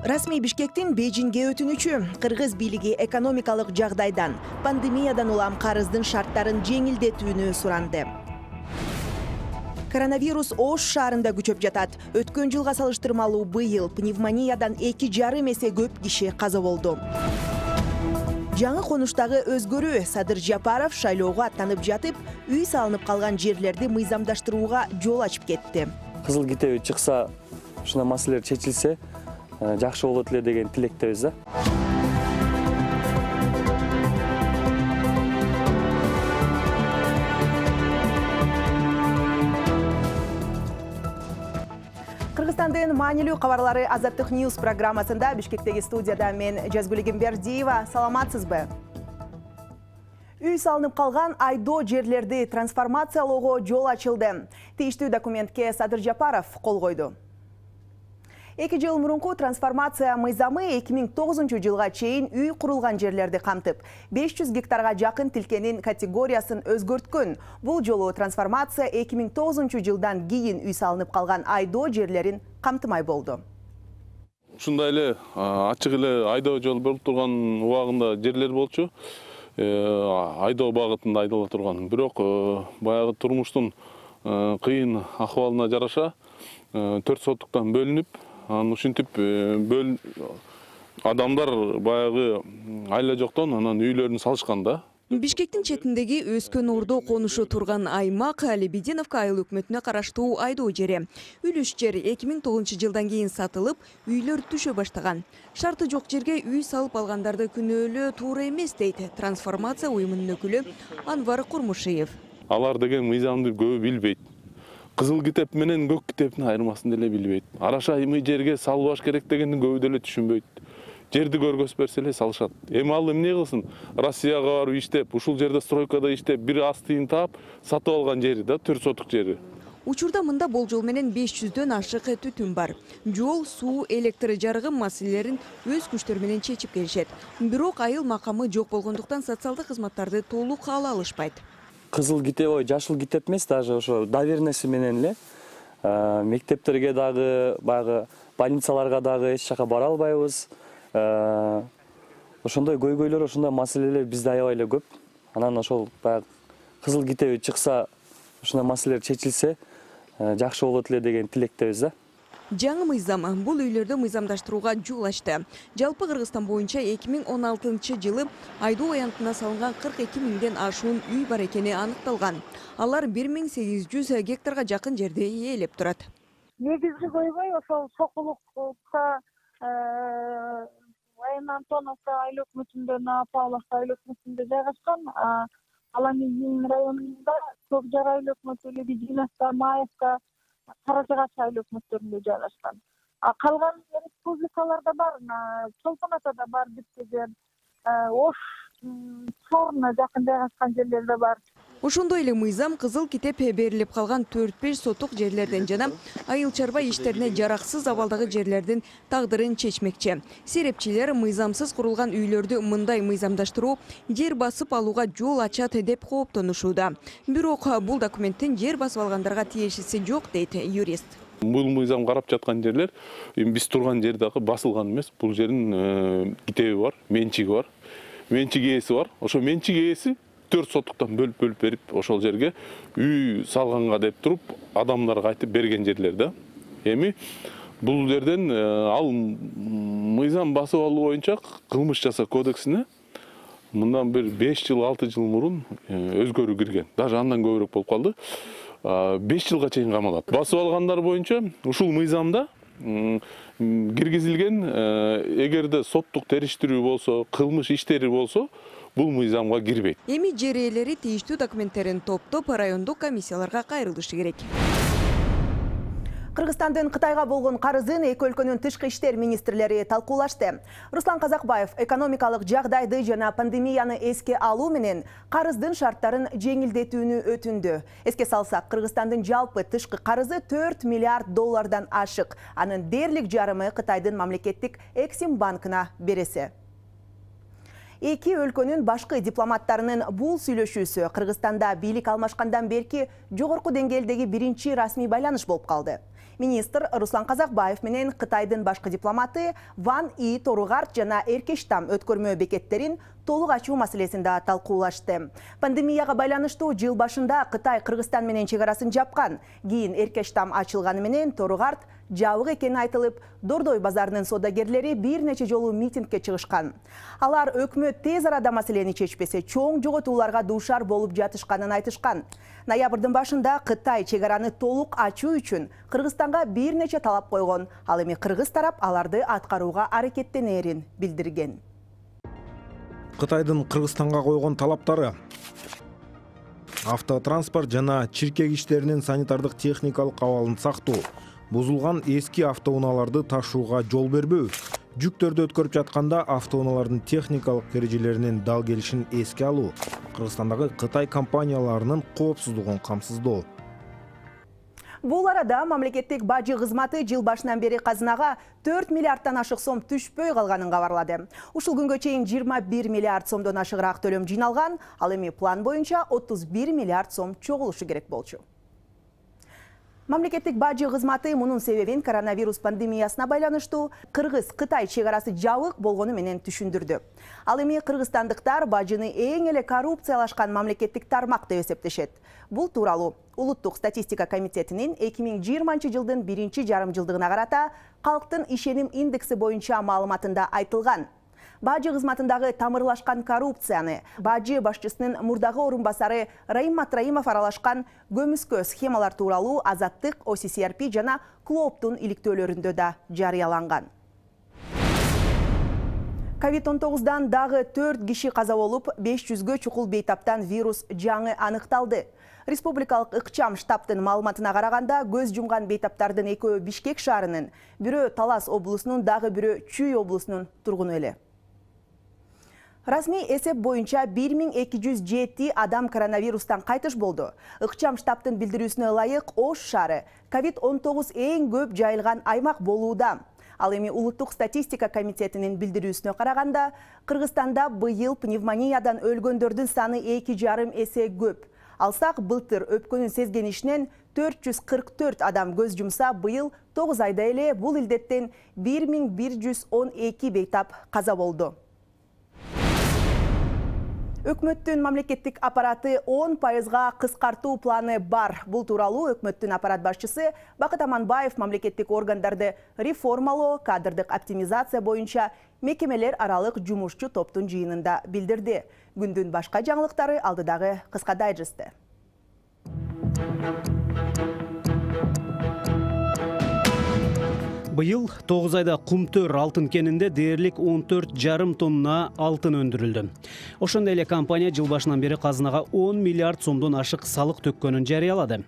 Расмий Бишкектин Бейжиңге өтүнүчү. Кыргыз бийлиги экономикалык жагдайдан, пандемиядан улам карыздын шарттарын жеңилдетүүнү суранды. Коронавирус Ош шаарында күчөп жатат. Өткөн жылга салыштырмалуу быйыл пневмониядан 2,5 эсе көп киши каза болду. Жаңы конуштагы өзгөрүү. Садыр Жапаров шайлоого аттанып жатып, үй салынып калган жерлерди мыйзамдаштырууга жол ачып кетти. Кызыл китеби чыкса, ушундай маселелер чечилсе, жакшы болот эле деген тилектебиз да. Кыргызстандын маанилүү кабарлары Азаттык Ньюс программасында Бишкектеги студияда мен Жазгүл Эгембердиева. Саламатсызбы? Үй салынып калган айдоо жерлерди трансформациялоого жол ачылды. Тийиштүү документке Садыр Жапаров кол койду. 2 жыл мурунку трансформация мыйзамы 2009 жылга чейин үй курулган жерлерди камтып, 500 гектарга жакын тилкенин категориясын өзгөрткөн. Бул жолу трансформация 2009 жылдан кийин үй салынып калган айдоо жерлерин камтымай болду. Ушундай эле ачык эле айдоо жол болуп турган убагында жерлер болчу. Айдоо багытында айдала турган. Бирок баягы турмуштун кыйын акыбалына жараша 4 соттуктан бөлүнүп, ушинтип адамдар баягы айла жоктон анан үйлөрүн салышкан да. Бишкектин четиндеги өскөн ордо конушу турган аймак Лебединовка айыл өкмөтүнө караштуу айдоо жери. Үлүш жер 2009 жылдан кийин сатылып, үйлөр түшө баштаган. Шарты жок жерге үй салып алгандарды күнөөлөө туура эмес дейт трансформация уюмунун өкүлү Анвар Курмушиев. Алар деген мыйзамды көбү билбейт. Кызыл китеп менен көк китептин айырмасын деле билбейт. Араша айымы жерге салбаш керек дегенди көбү деле түшүнбөйт. Жерди көргөзүп берсе эле салышат. Эми ал эмне кылсын? Россияга барып иштеп, ушул жерде стройкада иштеп, бир астыйын таап, сатып алган жери да 4 сотук жери. Учурда мында болжол менен 500дөн ашык түтүн бар. Жол, суу, электр жарыгы маселелерин өз күчтөрү менен чечип келишет. Бирок айыл макамы жок болгондуктан социалдык кызматтарды толук ала алышпайт. Кызыл китеп, жашыл китеп эмес, даже ошо доверенности менен эле мектептерге дагы, баягы больницаларга дагы эч жака бара албайбыз. Ошондой көйгөйлөр, ошондой маселелер бизде аябай эле көп. Анан ошол баягы кызыл китеби чыкса, ушундай маселелер чечилсе, жакшы болот эле деген тилектебиз да. Жаңы мыйзам бул үйлөрдү мыйзамдаштырууга жол ачты. Жалпы Кыргызстан боюнча 2016 жылы айдоо аянтына салынган 42 миңден ашуун үй бар экени аныкталган. Алар 1800 гектарга жакын жерди ээлеп турат. Негизги көйгөй ошол Сокулукта, Айын Антоновка айыл өкмөтүндө, Павловка айыл өкмөтүндө жайгашкан. Ал эми районунда Көкжар айыл өкмөтү, Лебединовка, Маевка, Каражагач айыл өкмөттөрүндө жайгашкан. Калган республикаларда бар, Чолпон Атада бар бир жер, Ош Чорна жакын жайгашкан жерлерде бар. Ошондой эле мыйзам кызыл китеп берилип калган 4-5 сотук жерлерден жана айыл чарба иштерине жараксыз абалдагы жерлердин тагдырын чечмекчи. Серепчилер мыйзамсыз курулган үйлөрдү мындай мыйзамдаштыруу жер басып алууга жол ачат деп кооптонушууда. Бирок бул документтин жер басып алгандарга тиешеси жок дейт юрист. Бул мыйзам карап жаткан жерлер биз турган жер дагы басылган эмес. Бул жердин китеби бар, менчиги бар. Менчик ээси бар. Ошо менчик ээси 4 соттуктан бөлүп берип, ошол жерге үй салганга деп туруп, адамдарга айтып берген жерлер да. Эми бул жерден ал мыйзам басып алуу боюнча кылмыш жасоо кодексине мындан бир 5 жыл, 6 жыл мурун өзгөрүү кирген. Даже андан көбүрөөк болуп калды. 5 жылга чейин камалат. Басып алгандар боюнча ушул мыйзамда киргизилген, эгерде соттук териштирүү болсо, кылмыш иштери болсо, бул мыйзамга кирбейт. Эми жер ээлери тийиштүү документтерин топтоп райондук комиссияларга кайрылышы керек. Кыргызстандын Кытайга болгон карызын эки өлкөнүн тышкы иштер министрлери талкуулашты. Руслан Казакбаев экономикалык жагдайды жана пандемияны эске алуу менен карыздын шарттарын жеңилдетүүнү өтүндү. Эске салсак, Кыргызстандын жалпы тышкы карызы 4 миллиард доллардан ашык. Анын дээрлик жарымы Кытайдын мамлекеттик Эксим банкына береси. Эки өлкөнүн башкы дипломаттарынын бул сүйлөшүүсү Кыргызстанда бийлик алмашкандан берки жогорку деңгээлдеги биринчи расмий байланыш болуп калды. Министр Руслан Казакбаев менен Кытайдын башкы дипломаты Ван И Торугарт жана Эркештам өткөрмө бекеттерин толук ачуу маселесин да талкуулашты. Пандемияга байланыштуу жыл башында Кытай Кыргызстан менен чек арасын жапкан. Кийин Эркештам ачылганы менен Торугарт жабык экени айтылып, Дордой базарынын содагерлери бир нече жолу митингге чыгышкан. Алар өкмөт тез арада маселени чечпесе, чоң жоготууларга дуушар болуп жатышканын айтышкан. Ноябрдын башында Кытай чек араны толук ачуу үчүн Кыргызстанга бир нече талап койгон. Ал эми кыргыз тарап аларды аткарууга аракеттенерин билдирген. Кытайдын Кыргызстанга койгон талаптары: автотранспорт жана чиркек иштеринин санитардык техникалык абалын сактоо, бузулган эски автоунааларды ташууга жол бербөө, жүктөрдү өткөрүп жатканда автоунаалардын техникалык эрежелеринин дал келишин эске алуу, Кыргызстандагы Кытай компанияларынын коопсуздугун камсыздоо. Бул арада мамлекеттик бажы кызматы жыл башынан бери казынага 4 миллиардтан ашык сом түшпөй калганын кабарлады. Ушул күнгө чейин 21 миллиард сомдон ашыгыраак төлөм жиналган, ал эми план боюнча 31 миллиард сом чогулушу керек болчу. Мамлекеттик бажы кызматы мунун себебин коронавирус пандемиясына байланыштуу Кыргыз-Кытай чек арасы жабык болгону менен түшүндүрдү. Ал эми кыргызстандыктар бажыны эң эле коррупциялашкан мамлекеттик тармак деп эсептешет. Бул тууралуу Улуттук статистика комитетинин 2020 жылдын 1-жарым-жылдыгына карата калктын ишеним индекси боюнча маалыматында айтылган. Бажы кызматындагы тамырлашкан коррупцияны бажы башчысынын мурдагы орун басары Раим Матраимов аралашкан көмүскө схемалар тууралуу Азаттык, OCCRP жана Клооптун иликтөөлөрүндө да жарыяланган. COVID-19 дагы 4 киши каза болуп, 500гө чукул бейтаптан вирус жаңы аныкталды. Республикалык ыкчам штабтын маалыматына караганда, көз жумган бейтаптардын экөө Бишкек шаарынын, бирөө Талас облусунун, дагы бирөө Чүй облусунун тургуну эле. Расмий эсеп боюнча 1207 адам коронавирустан кайтыш болду. Ыкчам штабтын билдирүүсүнө ылайык, Ош шаары COVID-19 эң көп жайылган аймак болууда. Ал эми Улуттук статистика комитетинин билдирүүсүнө караганда, Кыргызстанда быйыл пневмониядан өлгөндөрдүн саны 2,5 эсе көп. Алсак, былтыр өпкөнүн сезгенишинен 444 адам көз жумса, быйыл 9 айда эле бул илдеттен 1112 бейтап каза болду. Өкмөттүн мамлекеттик аппараты 10%га кыскартуу планы бар. Бул тууралуу өкмөттүн аппарат башчысы Бакыт Аманбаев мамлекеттик органдарды реформалоо, кадрдык оптимизация боюнча мекемелер аралык жумушчу топтун жыйынында билдирди. Күндүн башка жаңылыктары алдыдагы кыска дайджестте. Быйыл 9 айда Кумтөр алтын кенинде дээрлик 14,5 тонна алтын өндүрүлдү. Ошондой эле компания жыл башынан бери казынага 10 миллиард сомдон ашык салык төккөнүн жарыялады.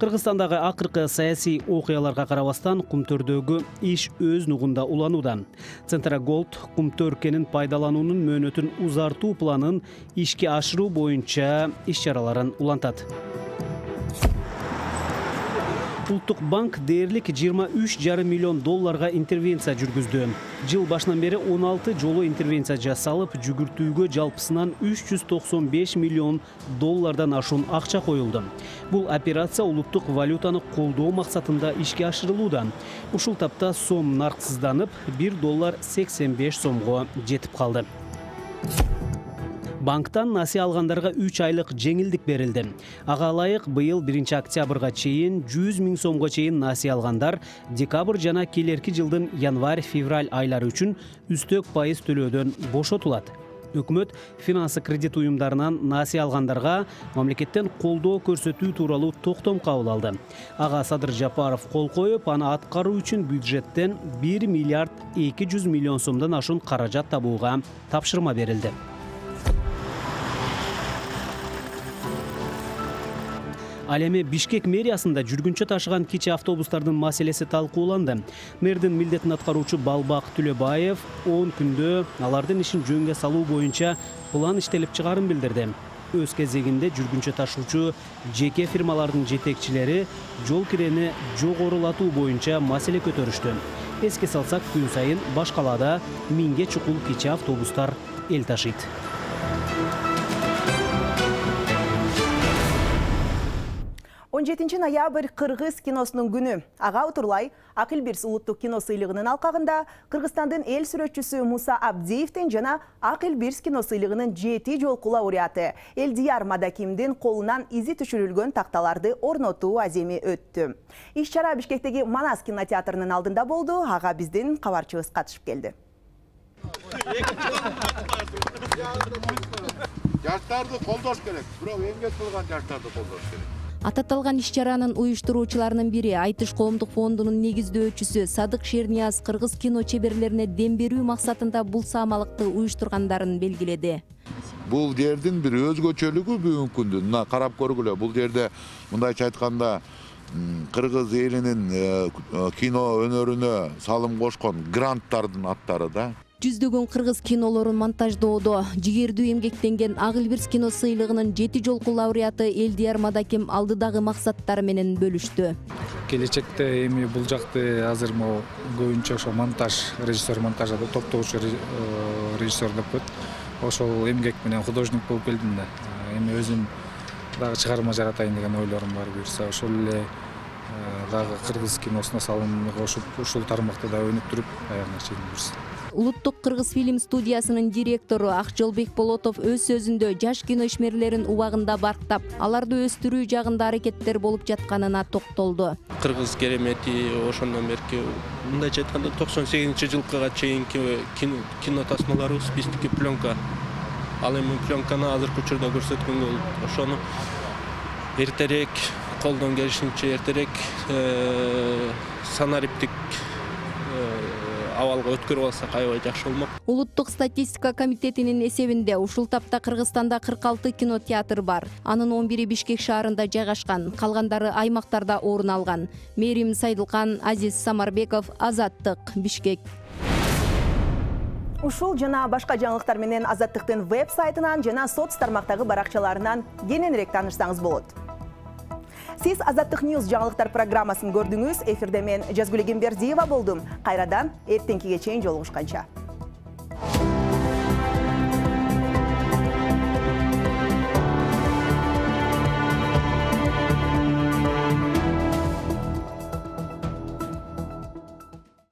Кыргызстандагы акыркы саясий окуяларга карабастан Кумтөрдөгү иш өз нугунда уланууда. Центроголд Кумтөр кенин пайдалануунун мөөнөтүн узартуу планын ишке ашыруу боюнча иш-чараларын улантат. Улуттук банк дээрлик 23,5 миллион долларга интервенция жүргүздү. Жыл башынан бери 16 жолу интервенция жасалып, жүгүртүүгө жалпысынан 395 миллион доллардан ашуун акча коюлду. Бул операция улуттук валютаны колдоо максатында ишке ашырылууда. Ушул тапта сом нарксызданып, $1.85 сомго жетип калды. Банктан насыя алгандарга 3 айлык жеңилдик берилди. Ага ылайык быйыл 1 октябрга чейин 100 000 сомго чейин насыя алгандар декабрь жана келерки жылдын январь-февраль айлары үчүн үстөк пайыз төлөөдөн бошотулат. Өкмөт финансы кредит уюмдарынан насыя алгандарга мамлекеттен колдоо көрсөтүү тууралуу токтом кабыл алды. Ага Садыр Жапаров кол коюп, аны аткаруу үчүн бюджеттен 1 миллиард 200 миллион сомдон ашуун каражат табууга тапшырма берилди. Ал эми Бишкек мэриясында жүргүнчө ташыган кичи автобустардын маселеси талкууланды. Мэрдин милдетин аткаруучу Балбак Түлөбаев 10 күндө алардын ишин жөнгө салуу боюнча план иштелип чыгарын билдирди. Өз кезегинде жүргүнчө ташуучу жеке фирмалардын жетекчилери жол кирени жогорулатуу боюнча маселе көтөрүштү. Эске салсак, күн сайын баш калаада 1000ге чукул кичи автобустар эл ташыйт. 17 ноябрь Кыргыз киносунун күнү. Ага утурлай Акылбирс улуттук кино сыйлыгынын алкагында Кыргызстандын эл сүрөтчүсү Муса Абдиевдин жана Акылбирс кино сыйлыгынын 7 жолку лауреаты Элдияр Мадакимдин колунан изи түшүрүлгөн такталарды орнотуу аземи өттү. Иш-чара Бишкектеги Манас кинотеатрынын алдында болду. Ага биздин кабарчыбыз катышып келди. Жаштарды колдош керек. Бирок эмгек кылган жаштарды колдош керек. Ататталган иш-чаранын уюштуруучуларынын бири Айтыш коомдук фондунун негиздөөчүсү Садык Шернияз кыргыз кино чеберлерине дем берүү максатында бул саамалыкты уюштургандарын белгиледи. Бул жердин бир өзгөчөлүгү бүгүнкү күндө мына карап көргүлө. Бул жерде мындайча айтканда кыргыз элинин кино өнөрүнө салым кошкон гранттардын аттары да. Жүздөгөн кыргыз кинолорун монтаждоодо жигердүү эмгектенген Акылбирс кино сыйлыгынын 7 жолку лауреаты Элдияр Мадаким алдыдагы максаттары менен бөлүштү. Келечекте эми бул жакты азыр могу көбүнчө ошо монтаж, режиссер монтажда топтогучу режиссер деп коет. Ошол эмгек менен художник болуп келдим да. Эми өзүм дагы чыгарма жаратайын деген ойлорум бар буюрса. Ошол эле дагы кыргыз киносуна салымды кошуп, ушул тармакта да өнүктүрүп аягына чейин буюрса. Улуттук кыргыз фильм студиясынын директору Акжолбек Болотов өз сөзүндө жаш кино ишмерлерин убагында барктап, аларды өстүрүү жагында аракеттер болуп жатканына токтолду. Кыргыз керемети ошондон берки мындайча айтканда 98-жылкыга чейинки кино тасмаларыбыз биздики пленка. Ал эми пленканы азыркы учурда көрсөткөнгө болот. Ошону эртерээк колдон келишинче эртерээк санариптик абалга өткөрүп алсак аябай жакшы болмок. Улуттук статистика комитетинин эсебинде ушул тапта Кыргызстанда 46 кинотеатр бар. Анын 11-и Бишкек шаарында жайгашкан, калгандары аймактарда орун алган. Мерим Сайдылкан, Азиз Самарбеков, Азаттык, Бишкек. Ушул жана башка жаңылыктар менен Азаттыктын веб-сайтынан жана соц тармактагы баракчаларынан кененирээк таанышсаңыз болот. Сиз Азаттык Ньюс жаңылыктар программасын көрдүңүз. Эфирде мен Жазгүл Эгембердиева болдум. Кайрадан эртеңкиге чейин жолугушканча.